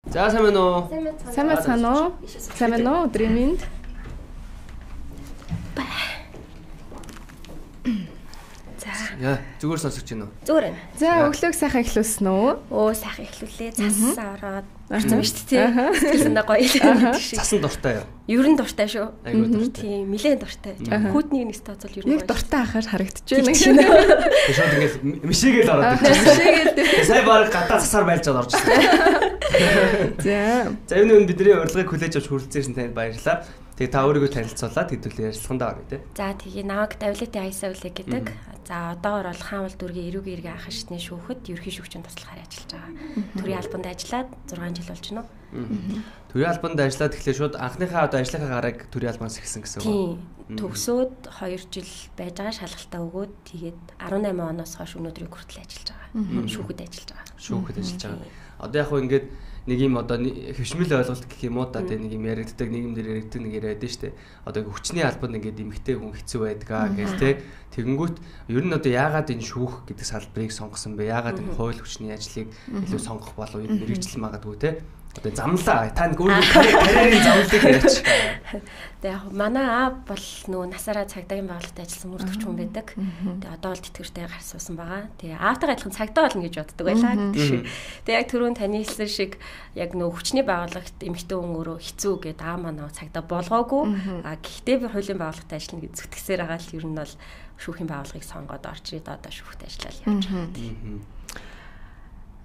За сайн байна уу? Сайн байна уу? Өдрийн минь. Яа, зүгээр сонсож байна уу? Зүгээр байна. За өглөөг сайхан эхлүүлсэн үү? Оо сайхан эхлүүлээ. Цасаа ороод орсон шүү дээ. Сэтгэлсэндээ гоё л. Цасан дуртай юу? Ер нь дуртай шүү. Айгуу дуртай. Тийм, нэлээд дуртай. Хүүтнийг нэг тооцол ер нь яг дуртай ахаар харагдаж байна. Шууд ингээд мишээгээл ороод ирчихсэн. Сая баг гадаа цасаар байлж орж ирсэн. За энэ бидний урилгыг хүлээж авч хүрэлцээрсэн танд баярлалаа. Тэгээ та өөрийгөө танилцуулаад хэдүүлээ ярилцлагандаа орё тий. За тэгээ намайг Давлити Айсавлэг гэдэг. За одоогор бол Хаанвал дүүргийн эрүүг эргээ ах шатны шүүхэд ерөнхий шүүгчийн туслахаар ажиллаж байгаа. Төрийн албанд ажиллаад 6 жил болж байна уу? Төрийн албанд ажиллаад тэгэхээр шууд анхныхаа одоо ажлынхаа гараг төрийн албанаас эхэлсэн гэсэн үг. Тийм. Төгсөөд 2 жил байж байгаа шалгалтаа өгөөд тэгээд 18 оноос хойш өнөөдрийг хүртэл ажиллаж байгаа. Шүүхэд ажиллаж байгаа. Шүүхэд ажиллаж байгаа. Одоо яг хөө ингээд нэг юм одоо хөвшмөл ойлголт гэх юм уу та тэ нэг юм яригддаг нийгэм дээр яригддаг нэг яриад нь штэ. Одоо хүчний албанд ингээд эмгтэй хүн хэцүү байдгаа гэж тэ. Тэгэнгүүт ер нь одоо яагаад энэ шүүх гэдэг салбарыг сонгосон бэ? Яагаад энэ хууль хүчний ажлыг илүү сонгох болов юм мэрэгжил магадгүй тэ. Одоо замлаа та нэг өөрөө карьерийн замлалыг яриач. Тэгээ яг манай аав бол нөгөө насаараа цагдаагийн байгууллагад ажилласан мөрдөгч хүн байдаг. Тэгээ одоо бол тэтгэвртэй гар суусан байгаа. Тэгээ аавтайгаа адилхан цагдаа болно гэж боддог байлаа гэдэг шиг. Тэгээ яг түрүүн таны хэлсэн шиг яг нөгөө хүчний байгууллагт эмэгтэй хүн өөрөө хэцүү гэдэг аа манай цагдаа болгоогүй. Гэхдээ би хуулийн байгууллагад ажиллана гэж зүтгэсээр байгаа л ер нь бол шүүхийн байгууллагыг сонгоод орж ирээд одоо шүүхт ажиллаад явж байгаа.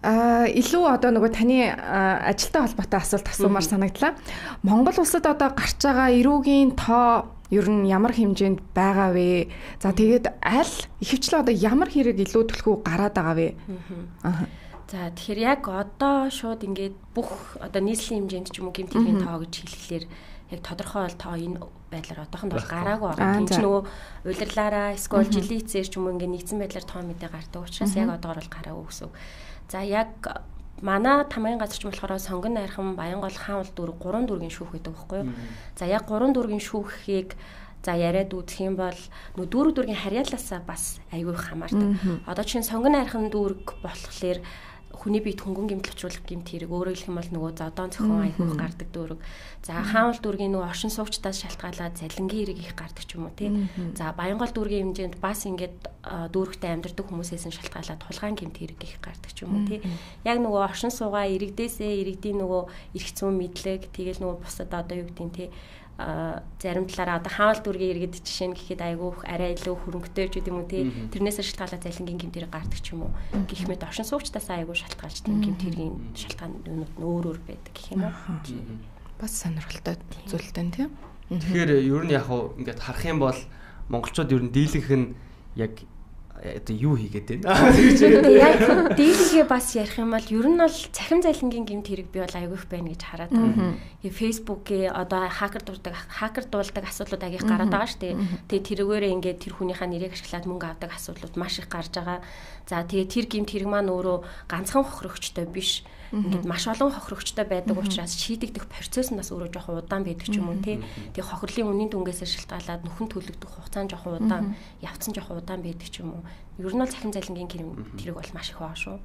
Илүү одоо нөгөө таны ажилтай холбоотой асуулт асуумаар санагдлаа. Монгол улсад одоо гарч байгаа эрүүгийн тоо ер нь ямар хэмжээнд байгаа вэ? За тэгээд аль ихэвчлэн одоо ямар хэрэг илүү төлхөө гараад байгаа вэ? За тэгэхээр яг одоо шууд ингээд бүх одоо нийслэлийн хэмжээнд ч юм уу гэмтлийн тоо гэж хэлэхлээр яг тодорхой бол тоо энэ байдлаар одоохонд бол гараагүй байгаа. Тэнд ч нөгөө удирлаараа эсвэл жилийн эцээр ч юм уу ингээд нэгдсэн байдлаар тоо мэдээ гардаг учраас яг одоогор бол гараагүй гэсэн. За яг манай тамгын газарч болохоор сонгон найрхан Баянгол Хаанвал дүүрэг 3 дүүргийн шүүх гэдэг байхгүй юу? За яг 3 дүүргийн шүүхийг за яриад үзэх юм бол нөө дүүргийн харьяалаасаа бас аюул хамаардаг. Одоо чинь сонгон найрхан дүүрэг болохоор хүний биед хөнгөн гэмтлэгчүүлэх гэмт хэрэг өөрөөр хэлэх юм бол нөгөө зодон цохон аяг гардаг дүүрэг. За Хаанвал дүүргийн нөгөө оршин суугчдаас шалтгаалаад залингийн хэрэг их гардаг ч юм уу тий. За Баянгол дүүргийн хэмжээнд бас ингээд дүүрэгтээ амьдардаг хүмүүсээс нь шалтгаалаад тулгаан гэмт хэрэг их гардаг ч юм уу тий. Яг нөгөө оршин суугаа иргэдээсээ иргэдийн нөгөө эрх зүйн мэдлэг тэгэл нөгөө бусад одоо юу гэдэг нь тий зарим талаараа одоо Хаанвал дүүргийн иргэд жишээ нь гэхэд айгүйх арай илүү хөрөнгөтэй ч гэдэм үү тий тэрнээс шалтгаалаад залингийн гэмтэрэг гардаг ч юм уу гэх мэт оршин суугчдаас айгүй шалтгаалж тийм гэмтэргийн шалтгаан өөр байдаг гэх юм уу бас сонирхолтой зүйлтэй тийм. Тэгэхээр ер нь яг уу ингээд харах юм бол монголчууд ер нь дийлэнх нь яг одоо юу хийгээд байна. Яг дийлэнхээ бас ярих юм бол ер нь бол цахим залингийн гэмт хэрэг би бол айгүйх байна гэж хараад байна. Facebook-ийн одоо хакер дуулдаг асуудлууд агих гараад байгаа шүү дээ. Тэгээ тэрүүгээрээ ингээд тэр хүнийхээ нэрийг ашиглаад мөнгө авдаг асуудлууд маш их гарч байгаа. За тэгээ тэр гэмт хэрэг маань өөрөө ганцхан хохирогчтой биш. Ингээд маш олон хохирогчтой байдаг учраас шийдэгдэх процесс нь бас өөрөө жоохон удаан байдаг ч юм уу тий. Тэгээ хохирлын үнийн дүнгээсээ шалтгаалаад нөхөн төлөгдөх хугацаа нь жоохон удаан, явцсан жоохон удаан байдаг ч юм уу. Ер нь бол цахим залингийн хэрэг бол маш их байгаа шүү.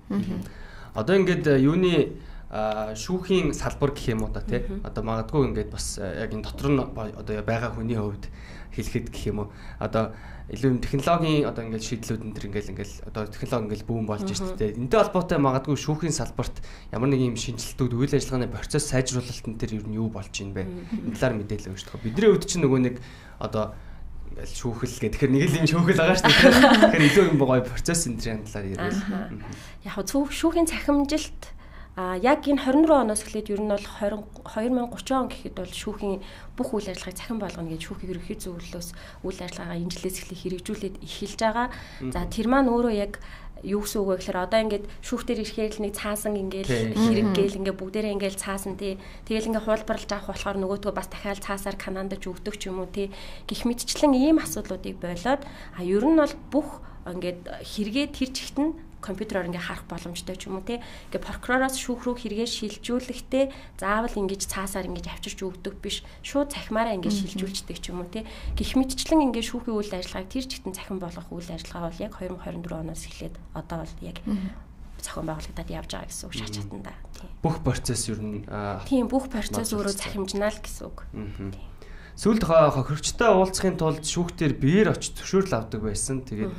Одоо ингээд юуны шүүхийн салбар гэх юм уу та тий. Одоо магадгүй ингээд бас яг энэ дотор нь одоо байгаа хүний хувьд хэлэхэд гэх юм уу. Одоо илүү технологийн одоо ингээд шийдлүүд энэ төр ингээд одоо технологи ингээд бүүн болж штэ. Энтэй холбоотой магадгүй шүүхийн салбарт ямар нэг юм шинжилтүүд үйл ажиллагааны процесс сайжруулалтын төр ер нь юу болж ийн бэ? Энэ талаар мэдээлэл өгч тохоо. Бидний хувьд чинь нөгөө нэг одоо ингээд шүүхэл гэх тэгэхээр нэг л юм шүүхэл байгаа штэ. Тэгэхээр илүү юм гоё процесс энэ төрлийн талаар ярил. Яг шүүхийн цахимжилт яг энэ 24 оноос эхлээд ер нь бол 2030 он гэхэд бол шүүхийн бүх үйл ажиллагааг цахим болгоно гэж шүүхийн ерөнхий зөвлөлөөс үйл ажиллагаагаа энэ жилээс эхлээ хэрэгжүүлээд эхэлж байгаа. За тэр маань өөрөө яг юу гэсэн үг вэ гэхээр одоо ингээд шүүхтэр ирэхээр л нэг цаасан ингээл хэрэг гээл ингээд бүгдээрээ ингээл цаасан тий. Тэгэл ингээд хуулбарлаж авах болохоор нөгөөтгөө бас дахиад цаасаар канандаж өгдөг ч юм уу тий. Гэх мэтчлэн ийм асуудлуудыг болоод ер нь бол бүх ингээд хэрэгээ тэр чигт нь компьютероор ингээ харах боломжтой ч юм уу тий. Ингээ прокуророос шүүх рүү хэрэгээ шилжүүлэхдээ заавал ингэж цаасаар ингэж авчирч өгдөг биш. Шууд цахимаараа ингээ шилжүүлждэг ч юм уу тий. Гэх мэтчлэн ингээ шүүхийн үйл ажиллагааг тэр чигтэн цахим болгох үйл ажиллагаа бол яг 2024 оноос эхлээд одоо бол яг зохион байгуулагдаад явж байгаа гэсэн үг шат чатанда. Бүх процесс ер нь тийм бүх процесс өөрөө захимжнаа л гэсэн үг. Сүүлд хохирогчтой уулзахын тулд шүүхтэр биеэр очиж зөвшөөрөл авдаг байсан. Тэгээд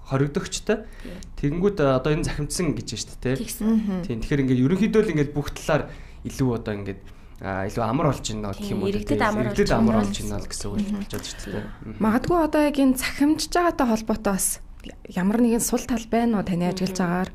хоригдогчтой. Тэгэнгүүт одоо энэ захимдсан гэж байна шүү дээ. Тийм. Тэгэхээр ингээд ерөнхийдөө л ингээд бүх талаар илүү одоо ингээд илүү амар болж байна гэх юм уу. Иргэдэд амар болж байна л гэсэн үг болж байна шүү дээ. Магадгүй одоо яг энэ захимжж байгаатай холбоотой бас ямар нэгэн сул тал байна уу таны ажиллаж байгаагаар?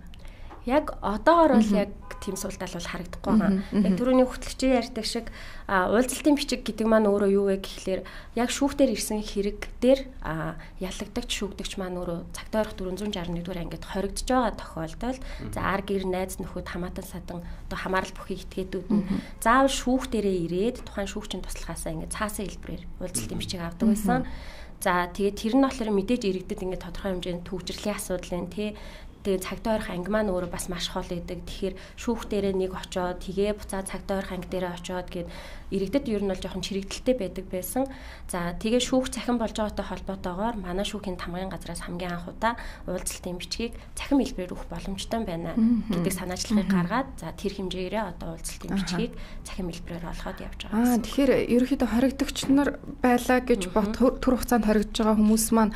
Яг одоогор бол яг тийм сул тал бол харагдахгүй байгаа. Яг түрүүний хөтлөгчийн ярьдаг шиг уулзалтын бичиг гэдэг маань өөрөө юу вэ гэхлээр яг шүүхтэр ирсэн хэрэг дээр ялагдагч шүүгдэгч маань өөрөө цагтаа орох 461-р ангид хоригдож байгаа тохиолдолд за ар гэр найз нөхөд хамаатан садан одоо хамаарал бүхий этгээдүүд нь заавал шүүхтэрээ ирээд тухайн шүүгчийн туслахаасаа ингээд цаасан хэлбэрээр уулзалтын бичиг авдаг байсан. За тэгээд тэр нь болохоор мэдээж иргэдэд ингээд тодорхой хэмжээнд төвчрлийн асуудал нь тэгээ цагтаа орох анги маань өөрөө бас маш хол байдаг. Тэгэхээр шүүх дээрээ нэг очоод тэгээ буцаад цагтаа орох анги дээрээ очоод гээд иргэдэд ер нь бол жоохон чирэгдэлтэй байдаг байсан. За тэгээ шүүх цахим болж байгаатай холбоотойгоор манай шүүхийн тамгын газраас хамгийн анх удаа уулзалтын бичгийг цахим хэлбэрээр өгөх боломжтой байна гэдэг санаачлагыг гаргаад за тэр хэмжээрээ одоо уулзалтын бичгийг цахим хэлбэрээр олгоод явж байгаа. Тэгэхээр ерөнхийдөө хоригдогч нар байлаа гэж түр хугацаанд хоригдож байгаа хүмүүс маань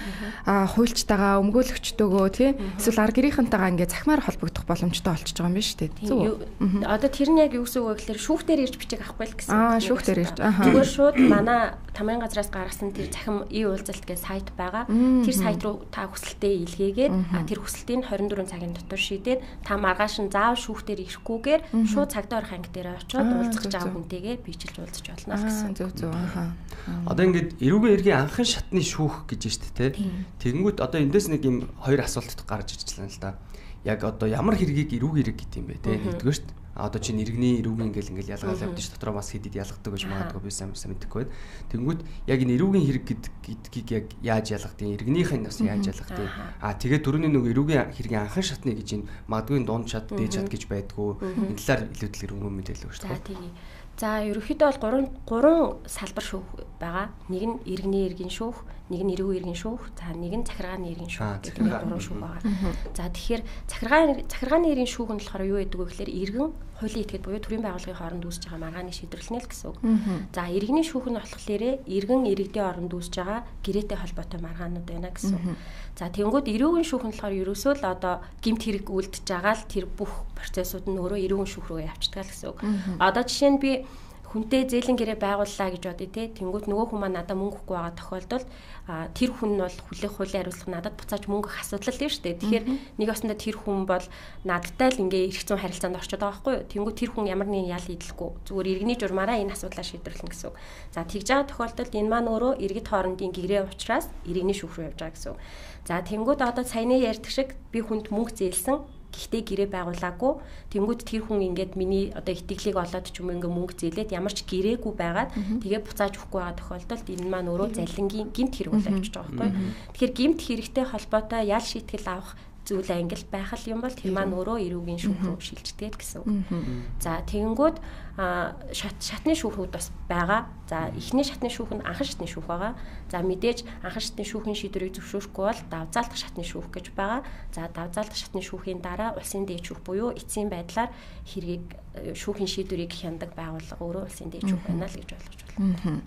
хуульчтайгаа өмгөөлөгчдөөгөө тий эсвэл ар гэрийнхэнтэйгээ ингээд захимаар холбогдох боломжтой болчихж байгаа юм байна шүү дээ. Зөв үү? Одоо тэр нь яг юу гэсэн үг вэ гэхээр шүүхтэр ирж бичиг авахгүй л гэсэн. Шүүхтэр ирж. Зүгээр шууд манай тамгын газраас гаргасан тэр захим e-уулзалт гэх сайт байгаа. Тэр сайт руу та хүсэлтээ илгээгээд тэр хүсэлтийг 24 цагийн дотор шийдээд та маргааш нь заавал шүүхтэр ирэхгүйгээр шууд цагтаа орох анги дээр очиод уулзах жаа хүнтэйгээ бичилж уулзаж болно гэсэн. Зөв. Одоо ингээд эрүүгийн иргэн анхан шатны шүүх гэж байна шүү дээ. Тэгэнгүүт одоо эндээс нэг юм хоёр асуулт гарч ирчихлээ л да. Яг одоо ямар хэргийг эрүүг хэрэг гэдэг юм бэ те нэгдүгээр шүү дээ. Одоо чинь иргэний эрүүгийн ингээл ялгаал явдаг ш дотроо бас хэдид ялгадаг гэж магадгүй би сайн мэдэхгүй байд. Тэнгүүд яг энэ эрүүгийн хэрэг гэдгийг яг яаж ялгадیں۔ Иргэнийх нь бас яаж ялгадیں۔ Тэгээд түрүүний нэг эрүүгийн хэргийн анхан шатны гэж энэ магадгүй дунд шат, дээд шат гэж байдгүй. Энэ талаар илүү дэлгэрэнгүй мэдээлэл өгч таа. За ерөнхийдөө бол 3 салбар шүүх байгаа. Нэг нь иргэний эргийн шүүх, нэг нь эрүүгийн эргийн шүүх, за нэг нь захиргааны эргийн шүүх гэдэг нэг 3 шүүх байгаа. За тэгэхээр захиргааны эргийн шүүх нь болохоор юу гэдэг вэ гэхээр иргэн хуулийн этгээд буюу төрийн байгууллагын хооронд үүсэж байгаа маргааны шийдвэрлэнэ л гэсэн үг. За иргэний шүүх нь болохоор иргэн иргэдийн хооронд үүсэж байгаа гэрээтэй холбоотой маргаанууд байна гэсэн үг. За тэнгууд эрүүгийн шүүх нь болохоор ерөөсөө л одоо гэмт хэрэг үлдэж байгаа л тэр бүх процессууд нь өөрөө эрүүгийн шүүх рүү явчихдаг гэсэн үг. Одоо жишээ нь би хүнтэй зээлэн гэрээ байгууллаа гэж бодъё те. Тэнгүүт нөгөө хүн маань надад мөнгө өгөхгүй байгаа тохиолдолд тэр хүн нь бол хүлээх хуулийн хариуцлага надад буцааж мөнгө өгөх асуудал тийм шүү дээ. Тэгэхээр нэг осондоо тэр хүн бол надтай л ингээ эрх зүйн харилцаанд орчод байгаа байхгүй юу. Тэнгүүт тэр хүн ямар нэгэн ял хийдэлгүй зүгээр иргэний журмаараа энэ асуудлаа шийдвэрлэнэ гэсэн үг. За тэгж байгаа тохиолдолд энэ маань өөрөө иргэд хоорондын гэрээ учраас иргэний шүүх рүү явж байгаа гэсэн үг. За тэнгүүт одоо саяны ярьдаг шиг би хүнд мөнгө зээлсэн гэхдээ гэрээ байгуулаагүй. Тэнгүүд тэр хүн ингээд миний одоо итгэлийг олоод ч юм ингээ мөнгө зээлээд ямар ч гэрээгүй байгаад тэгээ буцааж өгөхгүй байгаа тохиолдолд энэ маань өөрөө залингийн гэмт хэрэг бол авчиж байгаа байхгүй. Тэгэхээр гэмт хэрэгтэй холбоотой ял шийтгэл авах зүйл ангил байх юм бол тэр маань өөрөө эрүүгийн шүүх рүү шилждэг гэсэн үг. За тэгэнгүүт шатны шүүхүүд бас байгаа. За эхний шатны шүүх нь анхан шатны шүүх байгаа. За мэдээж анхан шатны шүүхийн шийдвэрийг зөвшөөрөхгүй бол давзаалтах шатны шүүх гэж байгаа. За давзаалтах шатны шүүхийн дараа улсын дээд шүүх буюу эцсийн байдлаар хэргийг шүүхийн шийдвэрийг хяндаг байгууллага өөрөө улсын дээд шүүх байна л гэж ойлгож байна.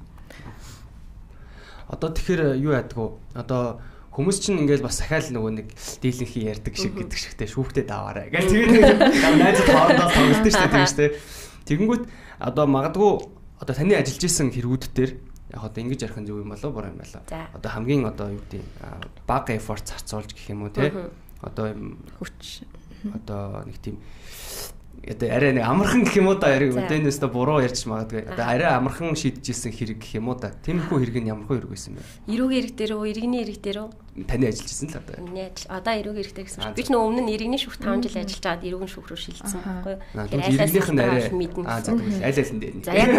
Одоо тэгэхээр юу яадаг вэ? Одоо хүмүүс чинь ингээл бас сахиал нөгөө нэг дийлэнхий ярьдаг шиг гэдэг шигтэй шүүхтэй даваарай. Ингээл тэгээд найзад хоорондоо тоглолттой шүү дээ тийм шүү дээ. Тэгэнгүүт одоо магадгүй одоо таны ажиллаж исэн хэрэгүүд дээр яг одоо ингэж ярих нь зөв юм болоо буруу юм болоо. Одоо хамгийн одоо юу гэдэг бага effort зарцуулж гэх юм уу те. Одоо хүч одоо нэг тийм одоо арай нэг амархан гэх юм уу да яриг өдөөнөөс та буруу ярьж магадгүй. Одоо арай амархан шийдчихсэн хэрэг гэх юм уу да. Тэмхүү хэрэг нь ямархуу хэрэг байсан бэ? Эрүүгийн хэрэг дээр үү, иргэний хэрэг дээр үү? Таны ажиллаж исэн л одоо. Одоо эрүүгийн хэрэг дээр гэсэн чинь би ч нөгөө өмнө нь иргэний шүүх 5 жил ажиллаж байгаад эрүүгийн шүүх рүү шилжсэн байхгүй юу? Иргэнийх нь арай аль аль нь дээр. За яг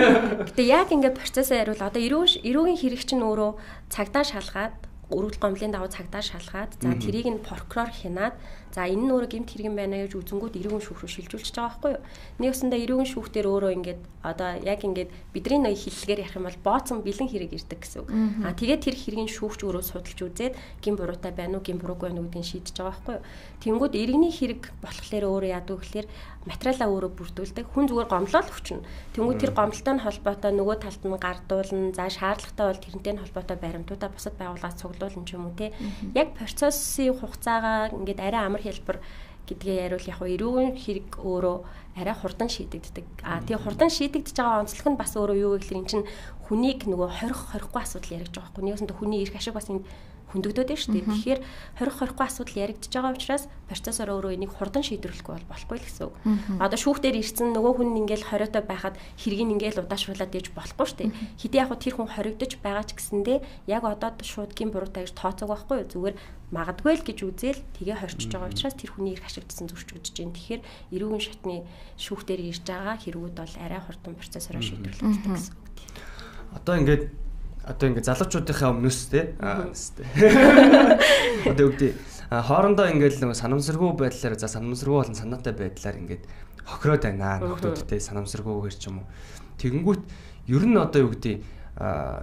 гэтээ яг ингээд процессыг хариул одоо эрүүгийн хэрэг чинь өөрөө цагдаа шалгаад өргөл гомдлын давуу цагдаа шалгаад за тэрийг нь прокурор хянаад За энэ нь өөрөө гэмт хэрэг байна гэж үзэнгүүд эрүүгийн шүүх рүү шилжүүлчихэж байгаа байхгүй юу? Нэг усандаа эрүүгийн шүүх дээр өөрөө ингээд одоо яг ингээд бидний ноён хэллэгээр ярих юм бол бооцсон бэлэн хэрэг ирдэг гэсэн үг. Тэгээд тэр хэргийн шүүгч өөрөө судалж үзээд гин буруутай байна уу, гин буруугүй байна уу гэдгийг шийдэж байгаа байхгүй юу? Тэнгүүд иргэний хэрэг болохоор өөрөө яадаг вэ гэхээр материалаа өөрөө бүрдүүлдэг. Хүн зүгээр гомлол өгчнө. Тэнгүүд тэр гомлолтой нь холбоотой нөгөө талд нь гардуулна. За шаардлагатай бол тэрнтэй нь холбоотой баримтуудаа бусад байгууллагаас цуглуулна ч юм уу те. Яг процессын хугацаагаа ингээд арай амар хэлбэр гэдгээ яриул яг эрүүгийн хэрэг өөрөө арай хурдан шийдэгддэг. Тэгээ хурдан шийдэгдэж байгаа онцлог нь бас өөрөө юу вэ гэхээр эн чинь хүнийг нөгөө 20-20гүй асуудал яригдж байгаа байхгүй. Нэгээс нь хүний эрх ашиг бас энд хөндөгдөд байна шүү дээ. Тэгэхээр 20-20гүй асуудал яригдж байгаа учраас процессор өөрөө энийг хурдан шийдвэрлэхгүй бол болохгүй л гэсэн үг. Одоо шүүхтэр ирсэн нөгөө хүн ингээл 20-той байхад хэргийг ингээл удаашруулад ээж болохгүй шүү дээ. Хэдий яг тэр хүн хоригдож байгаа ч гэсэндээ яг одоо шууд гин буруутай гэж тооцоог байхгүй юу? Зүгээр магадгүй л гэж үзэл тгээ хорчиж байгаа учраас тэр хүний эрх ашигдсан зурч үзэж байна. Тэгэхээр эрүүгийн шатны шүүхтэр ирж байгаа хэрэгүүд бол арай хурдан процессороор шийдвэрлэгддэг гэсэн үг. Одоо ингээд залуучуудынхаа өмнөөс те одоо үгдээ хоорондоо ингээд нэг санамсаргүй байдлаар санамсаргүй болон санаатай байдлаар ингээд хохироод байна нөхдүүдтэй санамсаргүйгээр ч юм уу тэгэнгүүт ер нь одоо юу гэдэг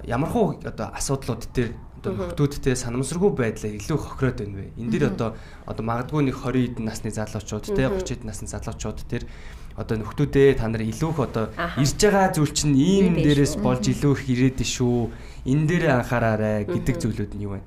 ямархуу одоо асуудлууд дээр одоо нөхдүүдтэй санамсаргүй байдлаа илүү хохироод байна вэ энэ дэр одоо магадгүй нэг 20 эдэн насны залуучууд те 30 эдэн насны залуучууд дээр одоо нөхдүүдээ та нар илүү их одоо ирж байгаа зүйл чинь ийм дээрээс болж илүү их ирээд шүү. Энэ дээр анхаараарай гэдэг зүйлүүд нь юу вэ?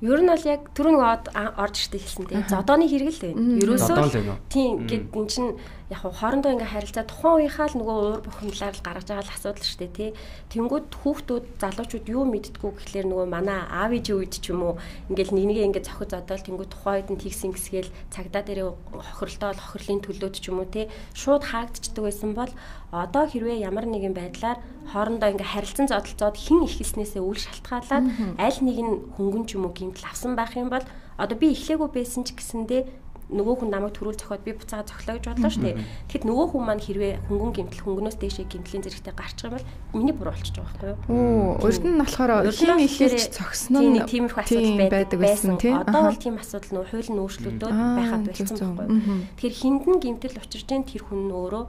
Ер нь бол яг түрүүн орж иртэй хэлсэн тийм зодооны хэрэг л байна. Ерөөсөө тийм гэд эн чинь яг хоорондоо ингээ харилцаа тухайн үеийнхаа л нөгөө уур бухимдлаар л гаргаж байгаа л асуудал шүү дээ тий. Тэнгүүд хүүхдүүд залуучууд юу мэддгүү гэхлээр нөгөө манай аав ээжийн үед ч юм уу ингээл нэгнийгээ ингээ зохиод зодоол тэнгүүд тухайн үед нь тэгсэн гисгээл цагдаа дээрээ хохирлтоо хохирлын төлөөд ч юм уу тий шууд хаагдчихдаг байсан бол одоо хэрвээ ямар нэгэн байдлаар хоорондоо ингээ харилцан зодолцоод хэн их хэлснээсээ үл шалтгаалаад аль нэг нь хөнгөн ч юм уу гэмтэл авсан байх юм бол одоо би эхлээгүй байсан ч гэсэндээ нөгөө хүн намайг төрүүл зохиод би буцаага зохилоо гэж бодлоо шүү дээ. Тэгэхэд нөгөө хүн маань хэрвээ хөнгөн гэмтэл хөнгөнөөс дээшээ гэмтлийн зэрэгтэй гарчих юм бол миний буруу болчих жоох байхгүй юу? Өөрт нь болохоор хин ихэлж зогсно нь тиймэрхүү асуудал байдаг байсан. Одоо бол тийм асуудал нөгөө хуулийн өөрчлөлтүүд байхад болцсон байхгүй юу? Тэгэхээр хиндэн гэмтэл учирж дээ тэр хүн нь өөрөө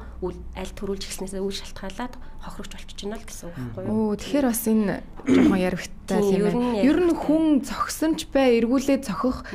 аль төрүүлж эхлснээсээ үл шалтгаалаад хохирогч болчихж байна л гэсэн үг байхгүй юу? Тэгэхээр бас энэ жоохон яригтай юм байна. Ер нь хүн зогсонч бай эргүүлээд зохих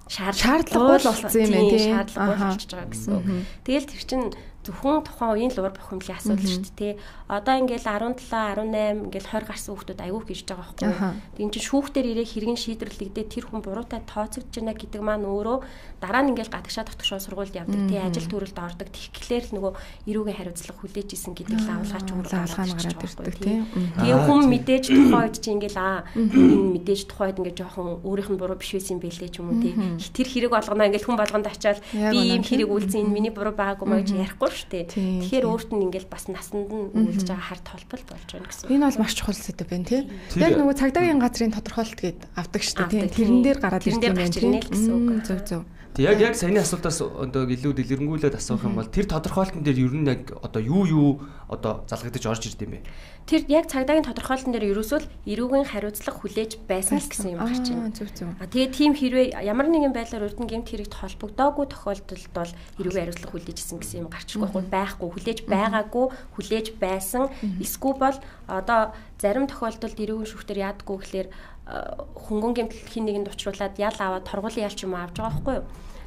шаардлагагүй л болсон юм байна тийм шаардлагагүй болчихж байгаа гэсэн үг. Тэгэл тэр чинь зөвхөн тухайн үеийн л уур бухимдлын асуудал шүү дээ. Одоо ингээл 17, 18 ингээл 20 гарсан хүүхдүүд аягүй хийж байгаа байхгүй юу? Тэгин чинь шүүхтэр ирээ хэргийн шийдвэрлэгдээ тэр хүн буруутай тооцогдож байна гэдэг маань өөрөө дараа нь ингээл гадагшаа тогтшоо сургуульд явдаг тий ажил төрөлд ордог. Тэгэхээр л нөгөө эрүүгийн хариуцлага хүлээж исэн гэдэг л авалгаач гараад ирдэг тий. Тэгээ хүн мэдээж тухайн үед чи ингээл энэ мэдээж тухайн үед ингээд жоохон өөрийнх нь буруу биш байсан бэлээ ч юм уу тий. Тэр хэрэг болгоно ингээл хүн болгонд ачаал би ийм хэрэг үйлцэн энэ миний буруу байгаагүй маяг чи ярихгүй шүү дээ. Тэгэхээр өөрт нь ингээл бас насанд нь үйлдэж байгаа харт холбол болж байна гэсэн. Энэ бол маш чухал сэдв байна тий. Яг нөгөө цагдаагийн газрын тодорхойлолт гээд авдаг шүү дээ тий. Тэрэн дээр гараад ирдэг юм байна тий. Зөв. Яг саяны асуултаас одоо илүү дэлгэрэнгүүлээд асуух юм бол тэр тодорхойлолтын дээр ер нь яг одоо юу одоо залгагдаж орж ирд юм бэ? Тэр яг цагдаагийн тодорхойлолтын дээр ерөөсөө л эрүүгийн хариуцлага хүлээж байсан л гэсэн юм гарч байна. Зөв. Тэгээ тийм хэрвээ ямар нэгэн байдлаар урд нь гэмт хэрэгт холбогдоогүй тохиолдолд бол эрүүгийн хариуцлага хүлээж исэн гэсэн юм гарчихгүй байхгүй хүлээж байгаагүй хүлээж байсан эсвэл бол одоо зарим тохиолдолд эрүүгийн шүүхтэр яадаггүй гэхэлэр хөнгөн гэмтэл хин нэгэнд учруулад ял аваад торгуулийн ял ч юм авч байгаа байхгүй юу?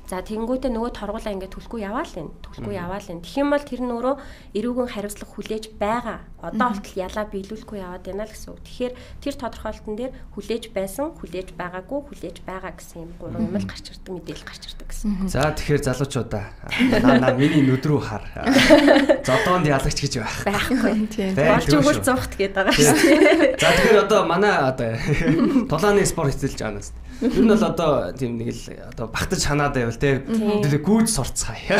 За тэгэнгүүтээ нөгөө торгуулаа ингээд төлөхгүй яваал энэ. Тэгэх юм бол тэр нь өөрөө эрүүгийн хариуцлага хүлээж байгаа. Одоо болтол ялаа биелүүлэхгүй яваад байна л гэсэн үг. Тэгэхээр тэр тодорхойлолтын дээр хүлээж байсан, хүлээж байгаагүй, хүлээж байгаа гэсэн юм гурван юм л гарч ирдэг, мэдээлэл гарч ирдэг гэсэн. За тэгэхээр залуучуудаа наа миний нүд рүү хар. Зодоонд ялагч гэж байхгүй. Тийм. Болж өгөл зогт гээд байгаа шүү дээ. За тэгэхээр одоо манай одоо тулааны спорт эзэлж байгаа нас. Ер нь бол одоо тийм нэг л одоо багтаж ханаад байвал те хэдүүлээ гүйж сурцгаая.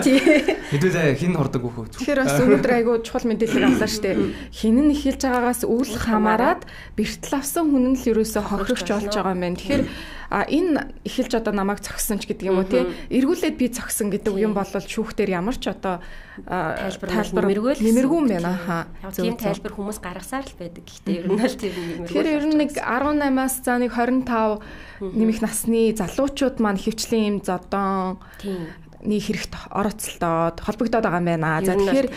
Хэдүүлээ хин хордог хөөх. Тэгэхээр бас өнөөдөр айгүй чухал мэдээлэл авлаа штэ. Хин нь эхэлж байгаагаас үл хамааран бэртэл авсан хүн нь л ерөөсө хохирогч болж байгаа юм байна. Тэгэхээр энэ эхэлж одоо намайг зогссон ч гэдэг юм уу тий. Эргүүлээд би зогсон гэдэг юм бол шүүхтэр ямар ч одоо тайлбар нэмэргүй юм байна. Хаа. Тийм тайлбар хүмүүс гаргасаар л байдаг. Гэхдээ ер нь л тэр нэмэргүй. Тэгэхээр ер нь нэг 18-аас за нэг 25 нэмэх насны залуучууд маань хөвчлийн юм зодон нэг хэрэгт орооцолдоод холбогдоод байгаа юм байна. За тэгэхээр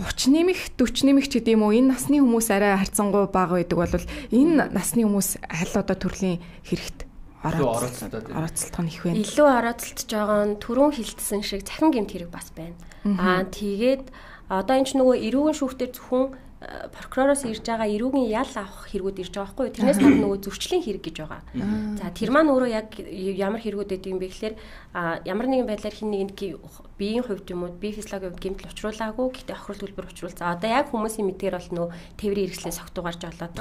30 нэмэх 40 нэмэх ч гэдэм үү энэ насны хүмүүс арай харьцангуй бага байдаг бол энэ насны хүмүүс аль одоо төрлийн хэрэгт орооцолдох нь их байна. Илүү орооцолдож байгаа нь түрүүн хилдсэн шиг цахим гэмт хэрэг бас байна. Тэгээд одоо энэ ч нөгөө эрүүгийн шүүхтэр зөвхөн прокуророос ирж байгаа эрүүгийн ял авах хэрэгүүд ирж байгаа байхгүй юу? Тэрнээс гадна нөгөө зөрчлийн хэрэг гэж байгаа. За тэр маань өөрөө яг ямар хэрэгүүд гэдэг юм бэ гэхээр ямар нэгэн байдлаар хин нэгэнд биеийн хувьд юм уу бие физиологийн хувьд гэмтэл учруулаагүй гэхдээ охирол төлбөр учруулсан. Одоо яг хүмүүсийн мэдгээр бол нөгөө тээврийн хэрэгслээ согтуугаар жолоод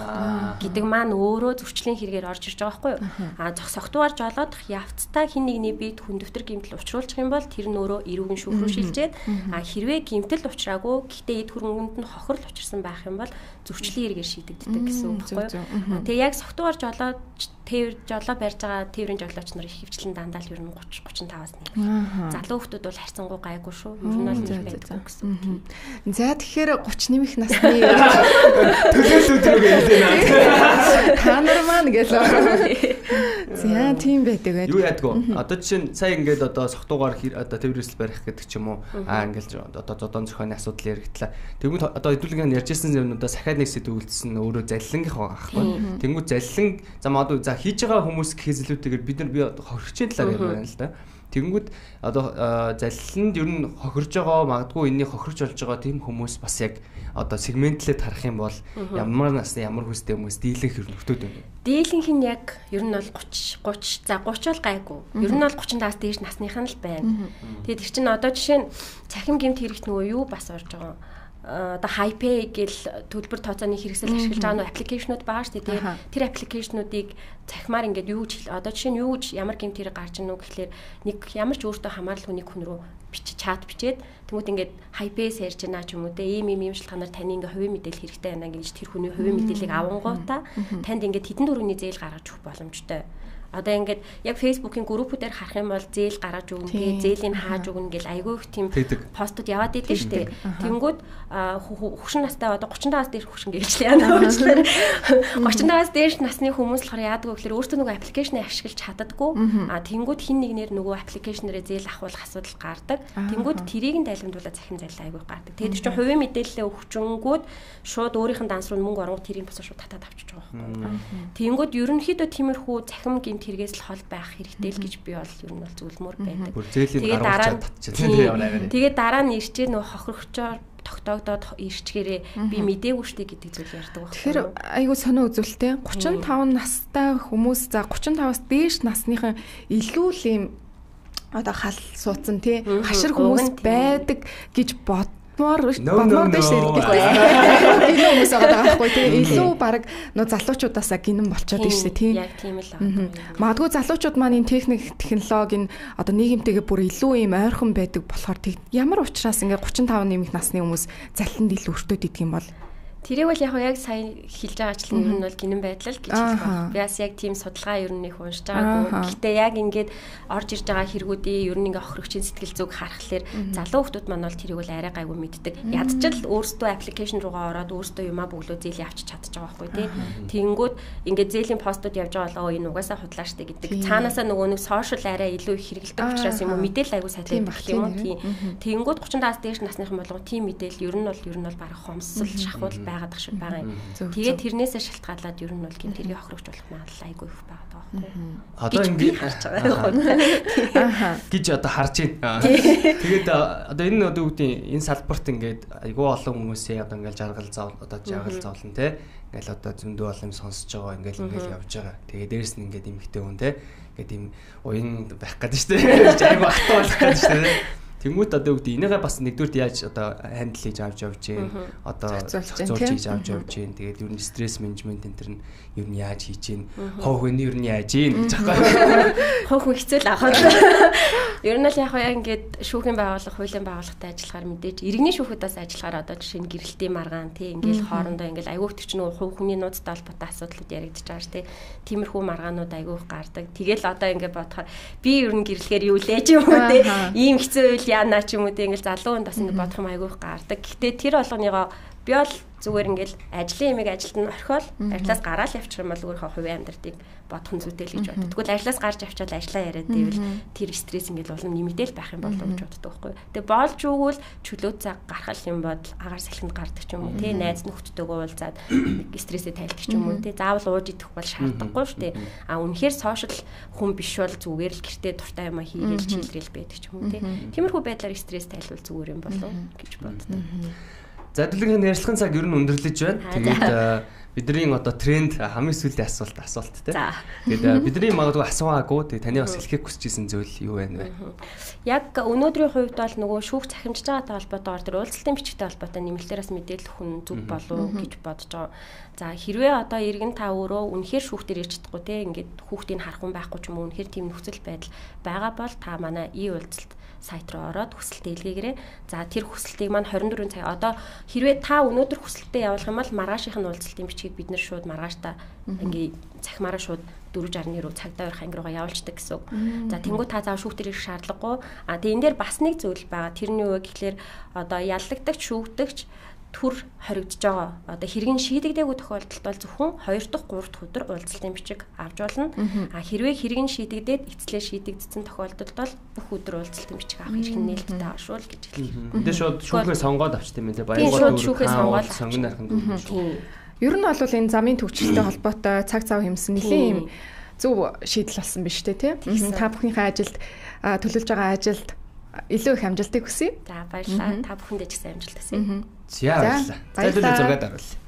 гэдэг маань өөрөө зөрчлийн хэрэгээр орж ирж байгаа байхгүй юу? Согтуугаар жолоод явцдаа хин нэгний биед хүндөвтөр гэмтэл учруулчих юм бол тэр нь өөрөө эрүүгийн шүүх рүү шилжээд хэрвээ гэмтэл учраагүй гэхдээ эд хөрөнгөнд нь хохирол учирсан байх юм бол зөрчлийн хэрэгээр шийдэгддэг гэсэн үг байхгүй юу? Тэгээ яг согтуугаар жолоод тээвэр жолоо барьж байгаа тээврийн жолооч нар хөвчлэн дандаа л ер нь 30-35-аас нэг. Залуу хүмүүс бол харьцангуй гайгүй шүү. Ер нь бол нэг байдаг гэсэн үг. За тэгэхээр 30 нэмэх насны төлөөлөлт рүү гэлээ. Та нар маань гэлээ. За тийм байдаг байх. Юу яадгүй. Одоо жишээ нь сая ингээд одоо согтуугаар одоо тээврээс барих гэдэг ч юм уу. Ингээд одоо зодон зохионы асуудал яригдлаа. Тэгвэл одоо хэдүүлгэн ярьжсэн юмнуудаас дахиад нэг сэдв үлдсэн өөрөө залилангийнх байхгүй. Тэнгүү залиланг за хийж байгаа хүмүүс гэхээс илүүтэйгээр бид нар хохирчийн талаар ярьж байна л да. Тэгэнгүүт одоо залиланд ер нь хохирж байгаа магадгүй энэний хохирч болж байгаа тийм хүмүүс бас яг одоо сегментлээд харах юм бол ямар насны ямар хүстэй хүмүүс дийлэнх нөхдөд байна. Дийлэнх нь яг ер нь бол 30 за 30 бол гайгүй. Ер нь бол 30-аас дээш насных нь л байна. Тэгээд тэр чинь одоо жишээ нь цахим гэмт хэрэгт нөгөө юу бас орж байгаа одоо HiPay гэл төлбөр тооцооны хэрэгсэл ашиглаж байгаа нөө аппликейшнуд байгаа шүү дээ. Тэр аппликейшнуудыг цахимаар ингээд юу гэж одоо жишээ нь юу гэж ямар гэмт хэрэг гарч ирнэ үү гэхлээр нэг ямар ч өөртөө хамаарал хүний хүн рүү чат бичээд тэмүүт ингээд HiPay-с ярьж байна ч юм уу те ийм шалтгаанаар таны ингээд хувийн мэдээлэл хэрэгтэй байна гэж тэр хүний хувийн мэдээллийг авангуудаа танд ингээд хэдэн төгрөгийн зээл гаргаж өгөх боломжтой. Одоо ингээд яг Facebook-ийн группүүдээр харах юм бол зээл гаргаж өгнө гээ, зээлийн хааж өгнө гэл айгүй их тийм постууд яваад идэв штэ. Тэнгүүд хөгшин настай одоо 35-аас дээш хөгшин гээчлээ яана уучлаарай. 35-аас дээш насны хүмүүс болохоор яадаг вэ гэхээр өөртөө нөгөө аппликейшнийг ашиглаж чаддаггүй. Тэнгүүд хин нэгнээр нөгөө аппликейшнээрээ зээл авахулах асуудал гардаг. Тэнгүүд тэрийг нь дайламжуулаад захин зайлаа айгүй гардаг. Тэгээд чинь хувийн мэдээлэлээ өгчөнгүүд шууд өөрийнх нь данс руу мөнгө оронгууд тэрийг босоо шууд татаад авчиж байгаа байхгүй. Тэнгүүд ерөнхийдөө тиймэрхүү захим хэрэгээс л хол байх хэрэгтэй л гэж би бол ер нь бол зөвлөмөр байдаг. Тэгээд дараа нь ирчээ нөө хохирогчоор тогтоогдоод ирчгээрээ би мдээгүй штэ гэдэг зүйл ярьдаг байна. Тэгэхээр айгу сонио үзүүлэлтэй 35 настай хүмүүс за 35-аас дээш насныхан илүү л юм одоо хал суудсан тий хашир хүмүүс байдаг гэж бодмоор биш гэдэг. Энэ хүмүүс байгаа байхгүй тий илүү баг нөө залуучуудаасаа гинэн болчиход байна шүү тий. Яг тийм л байна. Магадгүй залуучууд маань энэ техник технологи одоо нийгэмтэйгээ бүр илүү юм ойрхон байдаг болохоор ямар учраас ингээ 35 нэмэх насны хүмүүс залиланд илүү өртөөд идэх юм бол тэрийг бол яг сайн хэлж байгаачлан ер нь бол гинэн байдлаа л гэж хэлэх байна. Би бас яг тийм судалгаа ер нь их уншиж байгаагүй. Гэхдээ яг ингээд орж ирж байгаа хэрэгүүдийн ер нь ингээ охирогчийн сэтгэл зүг харахаар залуу хүмүүс маань бол тэрийг бол арай гайгүй мэддэг. Ядчил өөрсдөө аппликейшн руугаа ороод өөрсдөө юмаа бөглөө зээл явчих чадчих байгаа байхгүй тий. Тэнгүүд ингээд зээлийн постууд явж байгаа бол энэ угаасаа худлаа штэ гэдэг. Цаанаасаа нөгөө нэг сошиал арай илүү их хэрэгэлдэг учраас юм уу мэдээлэл аягүй сайтай байх юм уу тий. Тэнгүүд 30-аас дээш насныхан болгоо тийм мэдээлэл ер нь бол баг хомсол шахуул байгаад ах шиг байгаа юм. Тэгээд тэрнээсээ шалтгаалаад ер нь бол гэмт хэрэг охирогч болох магадлал айгүй их байгаа байхгүй. Одоо ингэ харж байгаа гэж одоо харж байна. Тэгээд одоо энэ одоо үүдийн энэ салбарт ингээд айгүй олон хүмүүсээ одоо ингээд жаргал зовлон те ингээл одоо зөндөө олон юм сонсож байгаа ингээл явж байгаа. Тэгээд дээрэс нь ингээд эмхтэй хүн те ингээд ийм уян байх гэдэг шүү дээ. Айгүй ахтаа болох гэдэг шүү дээ. Тэнгүүт одоо үгдээ энийгээ бас нэгдүгürt яаж одоо хандл хийж авч явж гин одоо зохицуулж хийж авч явж гин тэгээд ер нь стресс менежмент энэ төр нь ер нь яаж хийж гин хов хүний ер нь яаж гин гэж аахгүй хов хүн хэцүү л ахаа. Ер нь л яг ингээд шүүхийн байгууллага, хуулийн байгууллагатай ажиллахаар мэдээж иргэний шүүхүүдээс ажиллахаар одоо жишээ нь гэрэлтийн маргаан тий ингээд хоорондоо ингээд айгүйх төрчнөө хувь хүний нууцтай холбоотой асуудлууд яригдчих байгаа ш тий. Тиймэрхүү маргаанууд айгүйх гардаг. Тэгэл одоо ингээд бодохоор би ер нь гэрлэхээр юу лээ ч юм уу тий. Ийм хэцүү үйл яана ч юм уу тий ингээд залуу хүн бас ингээд бодох юм айгүйх гардаг. Гэтэ тэр болгоныгоо би бол зүгээр ингээл ажлын ямиг ажилд нь орхиол ажлаас гараад явчих юм бол өөрийнхөө хувийн амьдралыг бодох нь зүйтэй л гэж боддог. Тэгвэл ажлаас гарч авчаад ажлаа яриад байвал тэр стресс ингээл улам нэмэгдээл байх юм болов гэж боддог байхгүй. Тэгээ боолж өгвөл чөлөө цаг гаргах юм бодол агаар салхинд гардаг ч юм уу тий найз нөхдөдөө уулзаад стрессээ тайлдаг ч юм уу тий заавал ууж идэх бол шаардлагагүй шүү дээ. А үнэхээр сошиал хүн биш бол зүгээр л гэртээ дуртай юм хийгээл чилрээл байдаг ч юм уу тий. Тиймэрхүү байдлаар стресс тайлбал зүгээр юм болов гэж боддог. За дэлгэрэнгийн ярилцлагын цаг ер нь өндөрлөж байна. Тэгээд бидний одоо тренд хамгийн сүүлийн асуулт тий. Тэгээд бидний магадгүй асуугаагүй тэгээд таны бас хэлхийг хүсэж исэн зүйл юу байна вэ? Яг өнөөдрийн хувьд бол нөгөө шүүх цахимжиж байгаатай холбоотойгоор тэр уулзалтын бичгтэй холбоотой нэмэлтээрээс мэдээлэл хүн зүг болов гэж бодож байгаа. За хэрвээ одоо иргэн та өөрөө үнэхээр шүүхтэр ирж чадахгүй тий ингээд хүүхдийг харах хүн байхгүй ч юм уу үнэхээр тийм нөхцөл байдал байгаа бол та манай уулзалт сайт руу ороод хүсэлтээ илгээгээрэй. За тэр хүсэлтийг маань 24 цаг одоо хэрвээ та өнөөдөр хүсэлтээ явуулах юм бол маргаашийн уулзалтын бичгийг бид нэр шууд маргааштай ингээ цахимаараа шууд 4:60 руу цагдаа өрх анги руугаа явуулдаг гэсэн үг. За тэнгуү та заав шүүхтэр ирэх шаардлагагүй. А тэгээ энэ дээр бас нэг зүйл байгаа. Тэрний юу гэхэлэр одоо яллагдагч шүүгдэгч төр хоригдож байгаа. Одоо хэргийн шийдэгдээгүй тохиолдолд бол зөвхөн 2 дахь 3 дахь өдөр уулзалтын бичиг авч болно. А хэрвээ хэргийн шийдэгдээд эцлээ шийдэгдсэн тохиолдолд бол бүх өдөр уулзалтын бичиг авах хэрэг нээлттэй ашуул гэж хэлээ. Энд шууд шүүхээ сонгоод авчт юм лээ. Баянгууд шүүхээ сонгоод сонгоно ахын. Ер нь бол энэ замын төвчлөлтэй холбоотой цаг цав хэмсэн нэлийн юм зөв шийдэл болсон биз дээ тий. Та бүхнийхээ ажилд төлөвлөж байгаа ажилд илүү их амжилтыг хүсье. За баярлалаа. Та бүхэндээ ч гэсэн амжилт хүсье. За баярлалаа. За зургаад оруулъя.